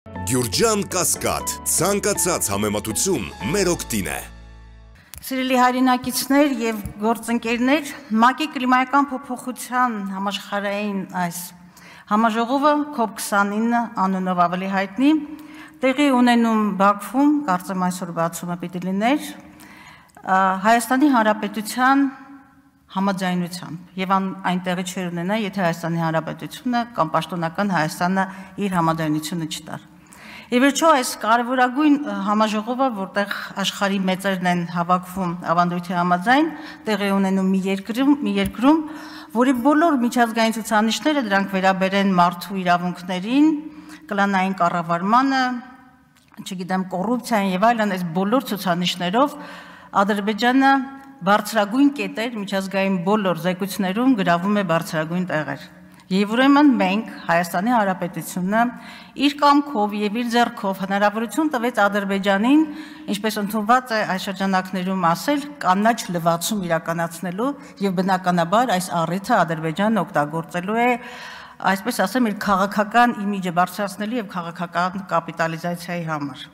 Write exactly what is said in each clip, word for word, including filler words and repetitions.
Գյուրջան Կասկադ, ցանկացած համեմատություն մեր օգտին է։ Սիրելի հայրենակիցներ եւ գործընկերներ, ՄԱԿ-ի կլիմայական փոփոխության համաշխարհային այս համաժողովը կոպ քսանինը անունով ավելի հայտնի տեղի ունենում Բաքվում, կարծեմ այսօր բացումը պիտի լիներ, Հայաստանի Հանրապետության համաձայնությամբ եւ այն տեղի չէր ունենա, եթե Հայաստանի Հանրապետությունը կամ պաշտոնական Հայաստանը իր համաձայնությունը չտար։ Եվ վերջո այս կարևորագույն համաժողովը, որտեղ աշխարհի մեծերն են հավաքվում ավանդույթի համաձայն, տեղի ունենում մի երկրում, մի երկրում, որի բոլոր միջազգային ցուցանիշները դրանք վերաբերեն մարդու իրավունքներին, կլանային կառավարմանը, չգիտեմ, կոռուպցիային եւ այլն, այս բոլոր ցուցանիշներով Ադրբեջանը բարձրագույն կետեր միջազգային բոլոր զեկույցներում գրավում է բարձրագույն տեղեր։ Եվ ուրեմն մենք Հայաստանի Հանրապետությունը իր կամքով եւ իր ձեռքով հնարավորություն տվեց Ադրբեջանին, ինչպես ընդունված է այս շրջանակներում ասել, կանաչ լվացում իրականացնելու եւ բնականաբար այս առիթը Ադրբեջանն օգտագործելու է, այսպես ասեմ, իր քաղաքական իմիջը բարձրացնելու եւ քաղաքական կապիտալիզացիայի համար։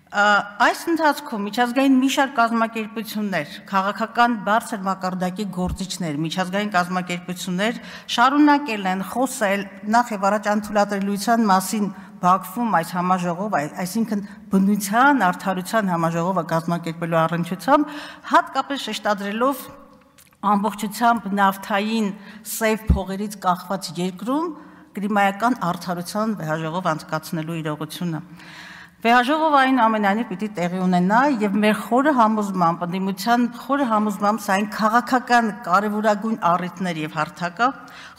Այս ընթացքում միջազգային մի շարք կազմակերպություններ, քաղաքական բարձր մակարդակի գործիչներ, միջազգային կազմակերպություններ շարունակել են խոսել նախ եւ առաջ անթույլատրելիության մասին Բաքվում այս համաժողով, այսինքն բնության, արդարության համաժողովը կազմակերպելու առնչությամբ, հատկապես շեշտադրելով ամբողջությամբ նավթային սև փողերից կախված երկրում կլիմայական արդարության վեհաժողով անցկացնելու իրողությունը։ Վեհաժողովը այն ամենայնիվ պիտի տեղի ունենա եւ մեր խորը համոզմամբ, ընդդիմության խորը համոզմամբ սա այն քաղաքական կարևորագույն առիթներ եւ հարթակը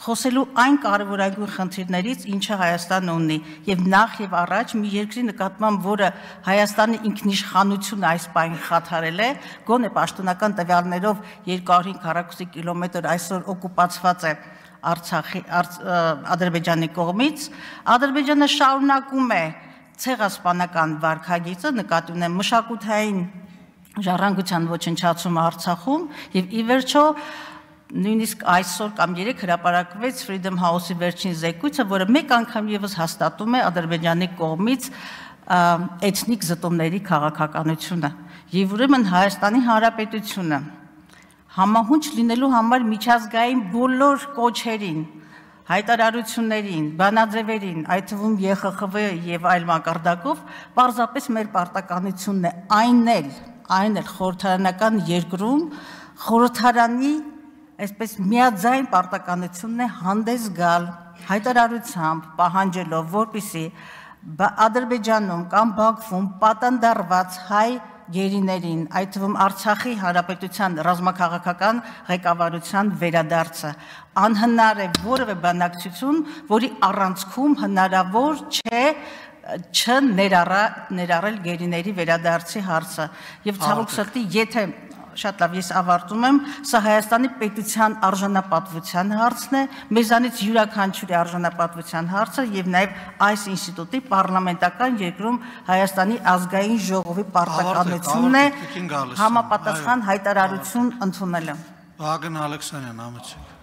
խոսելու այն կարևորագույն խնդիրներից, ինչը Հայաստանը ունի եւ նախ եւ առաջ մի երկրի նկատմամբ, որը Հայաստանի ինքնիշխանությունը այս պայն խաթարել է, գոնե պաշտոնական տվյալներով երկու հարյուր հինգ քառակուսի կիլոմետր այսօր օկուպացված է Արցախի Ադրբեջանի կողմից, Ադրբեջանը շարունակում է ցեղասպանական վարքագիծը, նկատի ունեմ մշակութային ժառանգության ոչնչացումը Արցախում եւ ի վերջո նույնիսկ այսօր կամ երեկ հրապարակվեց Freedom House-ի վերջին զեկույցը, որը մեկ անգամ եւս հաստատում է Ադրբեջանի կողմից էթնիկ զտումների քաղաքականությունը եւ ուրեմն Հայաստանի Հանրապետությունը համահունչ լինելու համար միջազգային բոլոր կոչերին, հայտարարություններին, բանաձևերին, այդ թվում Ե Խ Խ V եւ այլ մակարդակով, պարզապես մեր պարտականությունն է այն էլ, այն էլ խորհրդարանական երկրում խորհրդարանի այսպես միաձայն պարտականությունն է հանդես գալ հայտարարությամբ, պահանջելով, որպեսզի Ադրբեջանում կամ Բաքվում պատանդարված հայ գերիներին, այդ թվում Արցախի Հանրապետության ռազմաքաղաքական ղեկավարության վերադարձը անհնար է որևէ բանակցություն, որի առանցքում հնարավոր չէ չներառել գերիների վերադարձի հարցը եւ ցավոք սրտի, եթե շատ լավ, ես ավարտում եմ, սա Հայաստանի պետության արժանապատվության հարցն է, մեզանից յուրաքանչյուրի արժանապատվության հարցը եւ նաեւ այս ինստիտուտի պարլամենտական երկրում Հայաստանի ազգային ժողովի պարտականությունն է համապատասխան հայտարարություն ընդունելը։ Վահագն Ալեքսանյան, ամեցեք։